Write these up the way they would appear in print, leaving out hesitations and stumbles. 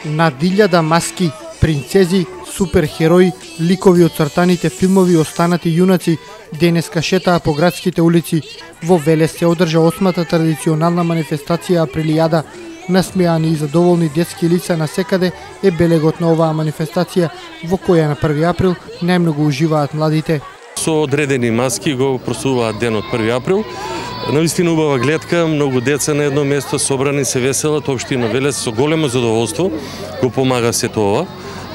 Над 1000 маски, принцези, суперхерои, ликови од цртаните филмови останати јунаци денеска шетаа по градските улици. Во Велес се одржа 8-та традиционална манифестација Априлијада. Насмеани и задоволни детски лица насекаде е белегот на оваа манифестација, во која на 1 април најмногу уживаат младите. Со одредени маски го прославуваат денот 1 април. Навистина убава гледка, многу деца на едно место собрани се веселат, општина Велес со големо задоволство го помага сето ова.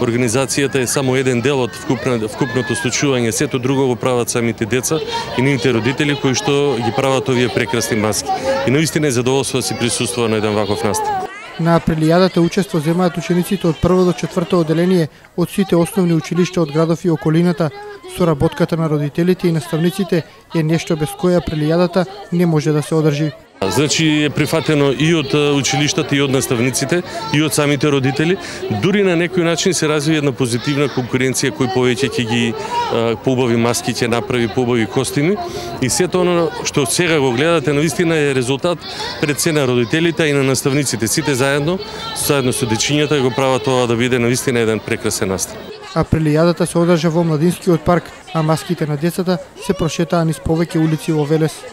Организацијата е само еден дел од вкупното случување, сето друго го прават самите деца и нивните родители кои што ги прават овие прекрасни маски. И навистина е задоволство да се присуствува на еден ваков настан. На Априлијадата учество земаат учениците од 1 до 4 одделение од сите основни училишта од градов и околината. Соработката на родителите и наставниците е нешто без кое Априлијадата не може да се одржи. Значи е прифатено и од училиштата, и од наставниците, и од самите родители. Дури на некој начин се развива една позитивна конкуренција кој повеќе ќе ги поубави маски, ќе направи поубави костими. И сето оно што сега го гледате навистина е резултат пред се на родителите и на наставниците. Сите заедно со дечињата го прават ова да биде навистина еден прекрасен настан. Априлијадата се одржа во Младинскиот парк, а маските на децата се прошетаа низ повеќе улици во Велес.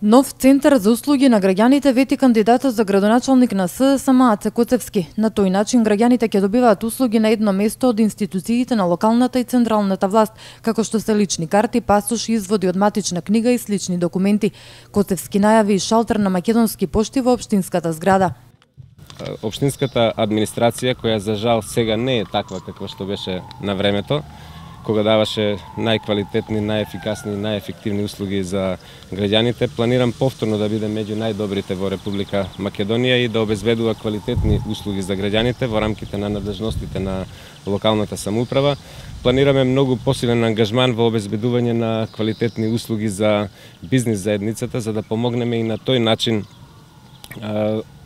Нов центар за услуги на граѓаните вети кандидатот за градоначалник на СДСМ Аце Коцевски. На тој начин граѓаните ќе добиваат услуги на едно место од институциите на локалната и централната власт, како што се лични карти, пасош, изводи од матична книга и слични документи. Коцевски најави и шалтер на Македонски пошти во општинската зграда. Општинската администрација, која за жал сега не е таква каква што беше на времето, кога даваше најквалитетни, најефикасни и најефективни услуги за граѓаните, планирам повторно да биде меѓу најдобрите во Република Македонија и да обезбедува квалитетни услуги за граѓаните во рамките на надлежностите на локалната самоуправа. Планираме многу посилен ангажман во обезбедување на квалитетни услуги за бизнис заедницата, за да помогнеме и на тој начин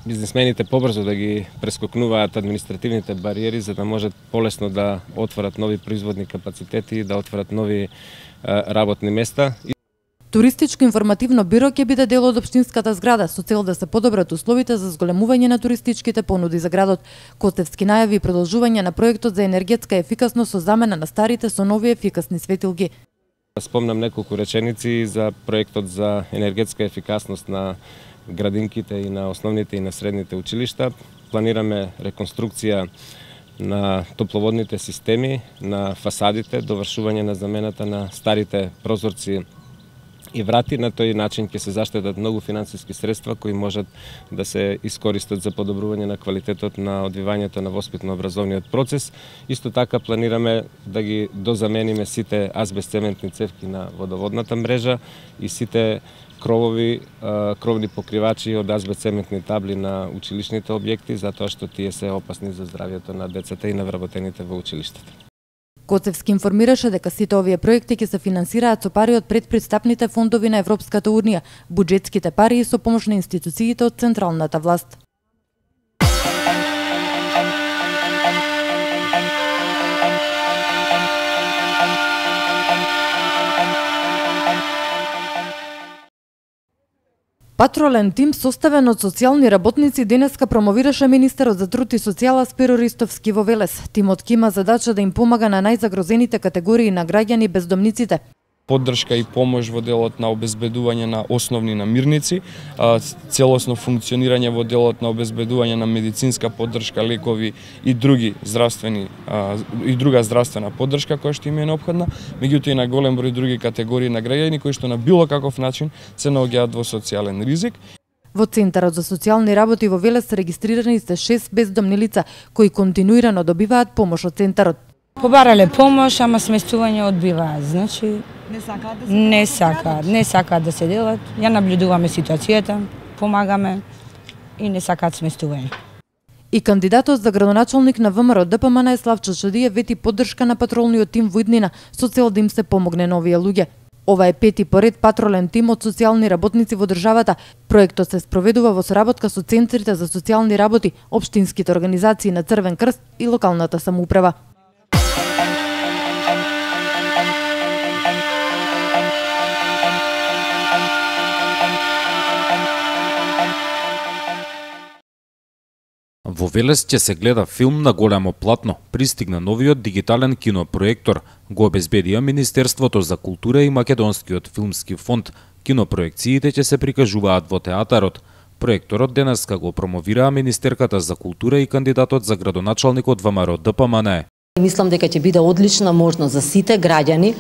бизнисмените побрзо да ги прескокнуваат административните бариери, за да можат полесно да отворат нови производни капацитети и да отворат нови работни места. Туристичко информативно биро ќе биде дел од општинската зграда со цел да се подобрат условите за зголемување на туристичките понуди за градот. Коцевски најави продолжување на проектот за енергетска ефикасност со замена на старите со нови ефикасни светилки. Спомнам неколку реченици за проектот за енергетска ефикасност на градинките и на основните и на средните училишта. Планираме реконструкција на топловодните системи, на фасадите, довршување на замената на старите прозорци и врати. На тој начин ќе се заштедат многу финансиски средства кои можат да се искористат за подобрување на квалитетот на одвивањето на воспитно-образовниот процес. Исто така планираме да ги дозамениме сите азбест-цементни цевки на водоводната мрежа и сите кровни покривачи од азбест-цементни табли на училишните објекти, затоа што тие се опасни за здравјето на децата и на вработените во училиштата. Коцевски информираше дека сите овие проекти ќе се финансираат со пари од предпристапните фондови на Европската Унија, буџетските пари и со помош на институциите од централната власт. Патролен тим составен од социјални работници денеска промовираше министерот за труд и социјала Спиро Ристовски во Велес. Тимот ќе има задача да им помага на најзагрозените категории на граѓани бездомниците. Поддршка и помош во делот на обезбедување на основни намирници, целосно функционирање во делот на обезбедување на медицинска поддршка, лекови и друга здравствена поддршка која што им е неопходна, меѓутоа и на голем број други категории на граѓани кои што на било каков начин се наоѓаат во социјален ризик. Во Центарот за социјални работи во Велес регистрирани се 6 бездомни лица кои континуирано добиваат помош од центарот. Побарале помош, ама сместување одбиваат, значи не сакаат да се делат. Ја наблюдуваме ситуацијата, помагаме и не сакаат сместување. И кандидатот за градоначалник на ВМРО ДПМН Славчо Шадиев вети поддршка на патролниот тим во иднина со цел да им се помогне на овие луѓе. Ова е пети поред патролен тим од социјални работници во државата. Проектот се спроведува во соработка со центрите за социјални работи, општинските организации на Црвен крст и локалната самоуправа. Во Велес ќе се гледа филм на големо платно. Пристигна новиот дигитален кинопроектор. Го обезбедија Министерството за култура и Македонскиот филмски фонд. Кинопроекциите ќе се прикажуваат во театарот. Проекторот денеска го промовираа Министерката за култура и кандидатот за градоначалник од ВМРО ДПМН. Мислам дека ќе биде одлична можност за сите граѓани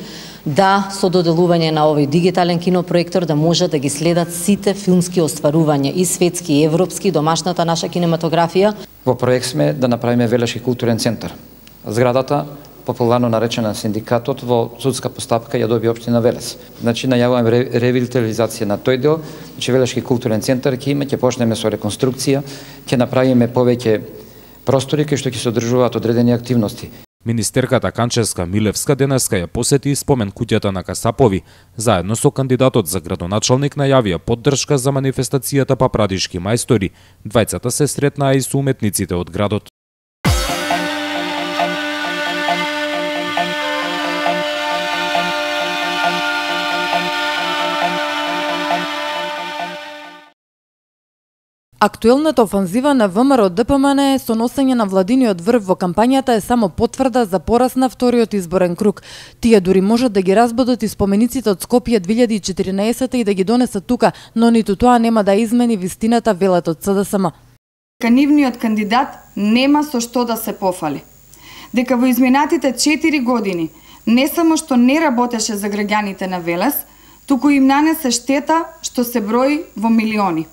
да со доделување на овој дигитален кинопроектор да можат да ги следат сите филмски остварувања и светски и европски, домашната наша кинематографија. Во проект сме да направиме Велешки културен центар. Зградата, популарно наречена синдикатот, во судска постапка ја доби општина Велес. Значи најавуваме ревитализација на тој дел, значи Велешки културен центар ќе има, ќе почнеме со реконструкција, ќе направиме повеќе простори кај што ќе се одржуваат одредени активности. Министерката Канчевска Милевска денеска ја посети и спомен куќата на Касапови. Заедно со кандидатот за градоначалник најавија поддршка за манифестацијата Папрадишки мајстори. Двајцата се сретнаа и со уметниците од градот. Актуелната офанзива на ВМРО ДПМН со носење на владиниот врв во кампањата е само потврда за пораз на вториот изборен круг. Тие дури можат да ги разбудат и спомениците од Скопје 2014 и да ги донесат тука, но ниту тоа нема да измени вистината, велат од СДСМ. Нивниот кандидат нема со што да се пофали. Дека во изминатите 4 години не само што не работеше за граѓаните на Велес, туку им нанесе штета што се брои во милиони.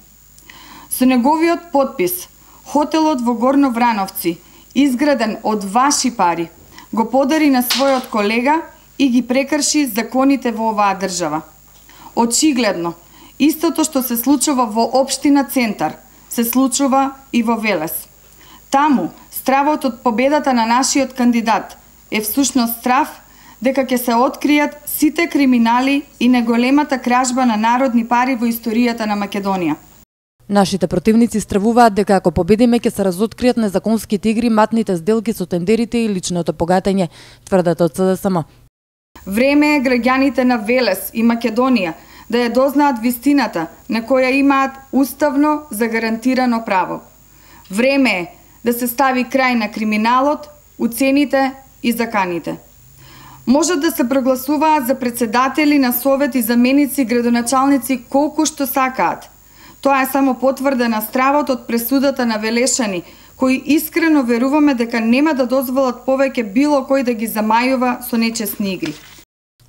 Со неговиот подпис, хотелот во Горно Врановци, изграден од ваши пари, го подари на својот колега и ги прекрши законите во оваа држава. Очигледно, истото што се случува во општина Центар, се случува и во Велес. Таму, стравот од победата на нашиот кандидат е всушност страв дека ќе се откријат сите криминали и неголемата кражба на народни пари во историјата на Македонија. Нашите противници стравуваат дека ако победиме ќе се разоткријат незаконските игри, матните сделки со тендерите и личното богатење, тврдат од СДСМ. Време е граѓаните на Велес и Македонија да ја дознаат вистината на која имаат уставно загарантирано право. Време е да се стави крај на криминалот, уцените и заканите. Можат да се прогласуваат за председатели на совет и заменици градоначалници колку што сакаат. Тоа е само потврда на стравот од пресудата на велешани, кои искрено веруваме дека нема да дозволат повеќе било кој да ги замајува со нечесни игри.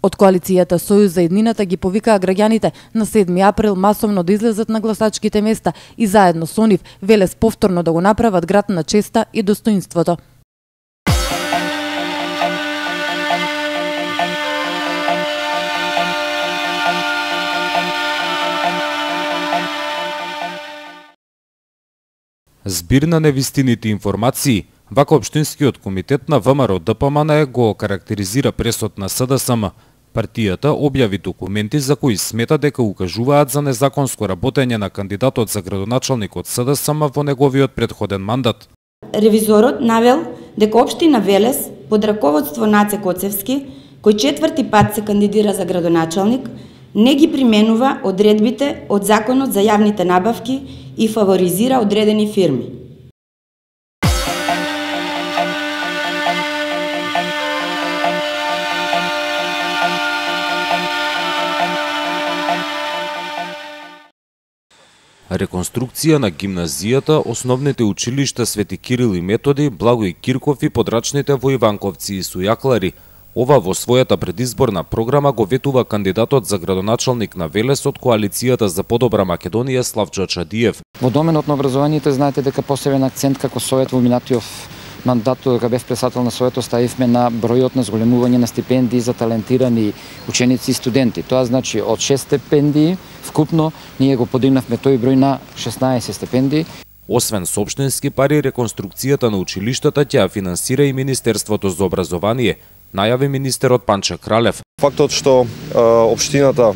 Од коалицијата Сојуз за еднината ги повикаа граѓаните на 7 април масовно да излезат на гласачките места и заедно со нив Велес повторно да го направат град на честа и достоинството. Збир на невистините информации, вака Општинскиот комитет на ВМРО ДПМН го карактеризира пресот на СДСМ. Партијата објави документи за кои смета дека укажуваат за незаконско работење на кандидатот за градоначалник од СДСМ во неговиот претходен мандат. Ревизорот навел дека општина Велес под раководство Наце Коцевски, кој 4-ти пат се кандидира за градоначалник, не ги применува одредбите од Законот за јавните набавки и фаворизира одредени фирми. Реконструкција на гимназијата, основните училишта Свети Кирил и Методи, Благој Кирков и подрачните во Иванковци и Сујаклари. Ова во својата предизборна програма го ветува кандидатот за градоначалник на Велес од коалицијата за подобра Македонија Славчо Чадиев. Во доменот на образованието знаете дека посебен акцент како совет во минатиот мандат кога бев председател на советот ставивме на бројот на зголемување на стипендии за талентирани ученици и студенти. Тоа значи од 6 стипендии вкупно ние го подигнавме тој број на 16 стипендии. Освен сопштински пари, реконструкцијата на училиштата ќе ја финансира и Министерството за образование. најави министерот Панче Кралев. Фактот што општината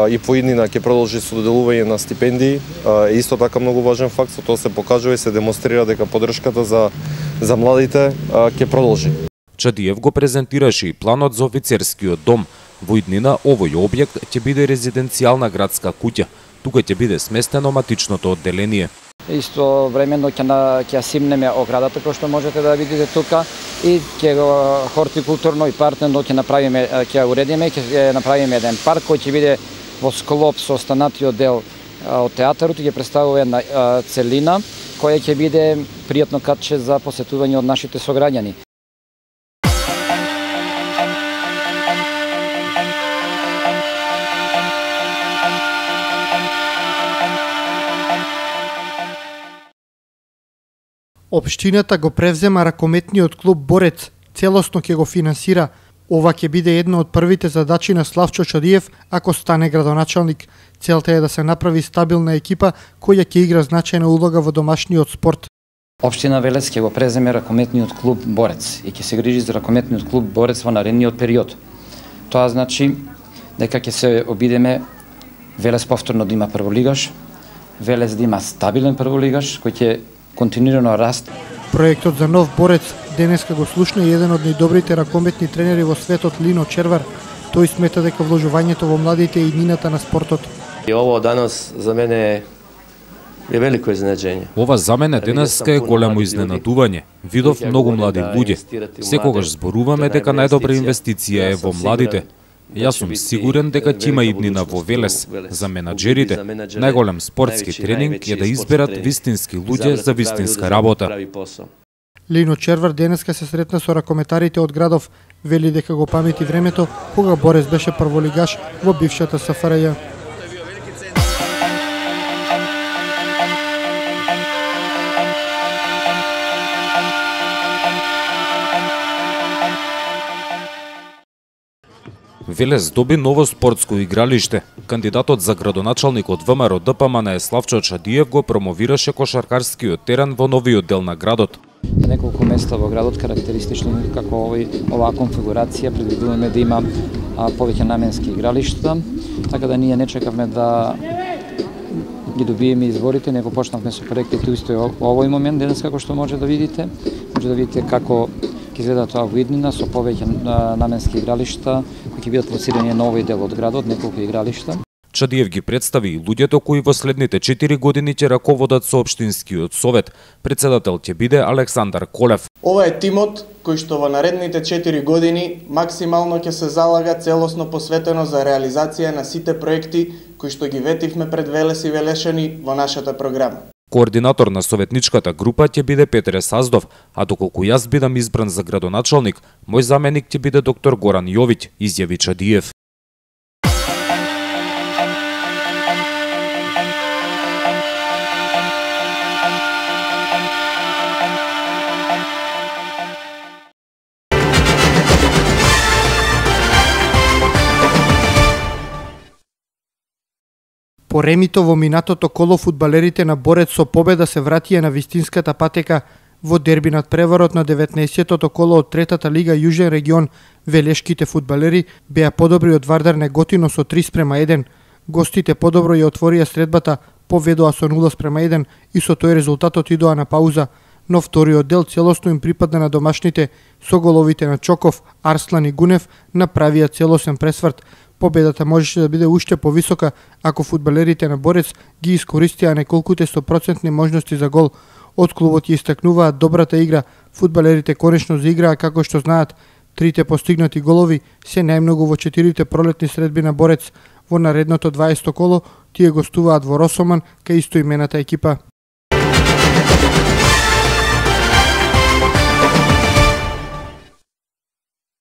и по иднина ќе продолжи со доделување на стипендии е исто така многу важен факт, со тоа се покажува и се демонстрира дека поддршката за младите ќе продолжи. Чадиев го презентираше и планот за офицерскиот дом. Во иднина овој објект ќе биде резиденцијална градска куќа. Тука ќе биде сместено матичното одделение. Исто времено ќе симнеме оградата кој што можете да видите тука и ќе го хортикултурно и партнерно ќе направиме, ќе уредиме, ќе направиме еден парк кој ќе биде во склоп со останатиот дел од театарот и ќе представува една целина која ќе биде пријатно катче за посетување од нашите сограѓани. Општината го превзема ракометниот клуб Борец, целосно ќе го финансира. Ова ќе биде една од првите задачи на Славчо Чадиев ако стане градоначалник. Целта е да се направи стабилна екипа која ќе игра значајна улога во домашниот спорт. Општина Велес ќе го преземе ракометниот клуб Борец и ќе се грижи за ракометниот клуб Борец во наредниот период. Тоа значи дека ќе се обидеме Велес повторно да има прволигаш, Велес да има стабилен прволигаш кој ќе континуирано раст. Проектот за нов Борец денеска го слушна и еден од најдобрите ракометни тренери во светот Лино Червар. Тој смета дека вложувањето во младите е иднината на спортот. И ово данас за мене е велико изненадење. Ова за мене денеска е големо изненадување. Видов многу млади луѓе. Секогаш зборуваме дека најдобра инвестиција е во младите. Јас сум сигурен дека ќе има иднина во Велес. За менаџерите, најголем спортски тренинг е да изберат вистински луѓе за вистинска работа. Лино Червар денеска се сретна со ракометарите од градов. Вели дека го памети времето кога Борец беше прволигаш во бившата СФРЈ. Велес доби ново спортско игралиште. Кандидатот за градоначалник од ВМРО ДПМН Славчо Чадиев го промовираше кошаркарскиот терен во новиот дел на градот. На неколку места во градот карактеристично како оваа конфигурација предвидуваме да има повеќе наменски игралишта, така да ние не чекавме да ги добиеме изборите, него почнавме со проектите исто овој момент денес како што може да видите. Може да видите како ќе изгледа тоа во иднина со повеќе наменски игралишта кои ќе бидат лоцирани на овој дел од градот, неколку игралишта. Чадиев ги представи и луѓето кои во следните 4 години ќе раководат со општинскиот совет. Председател ќе биде Александар Колев. Ова е тимот кој што во наредните 4 години максимално ќе се залага целосно посветено за реализација на сите проекти кои што ги ветивме пред Велес и Велешани во нашата програма. Координатор на советничката група ќе биде Петре Саздов, а доколку јас бидам избран за градоначалник, мој заменик ќе биде доктор Горан Јовиќ, изјави Чадиев. По ремито во минатото коло фудбалерите на Борец со победа се вратија на вистинската патека. Во дерби над преварот на 19-тото коло од третата лига Јужен регион, велешките фудбалери беа подобри од Вардар Неготино со 3:1. Гостите подобро ја отворија средбата, поведоа со 0:1 и со тој резултатот идоа на пауза. Но вториот дел целосно им припадна на домашните, со головите на Чоков, Арслан и Гунев направија целосен пресврт. Победата можеше да биде уште повисока ако фудбалерите на Борец ги искористија неколкуте 100% можности за гол. Од клубот ја истакнуваат добрата игра. Фудбалерите конечно заиграа како што знаат. Трите постигнати голови се најмногу во 4 пролетни средби на Борец. Во наредното 20 коло тие гостуваат во Росоман кај истоимената екипа.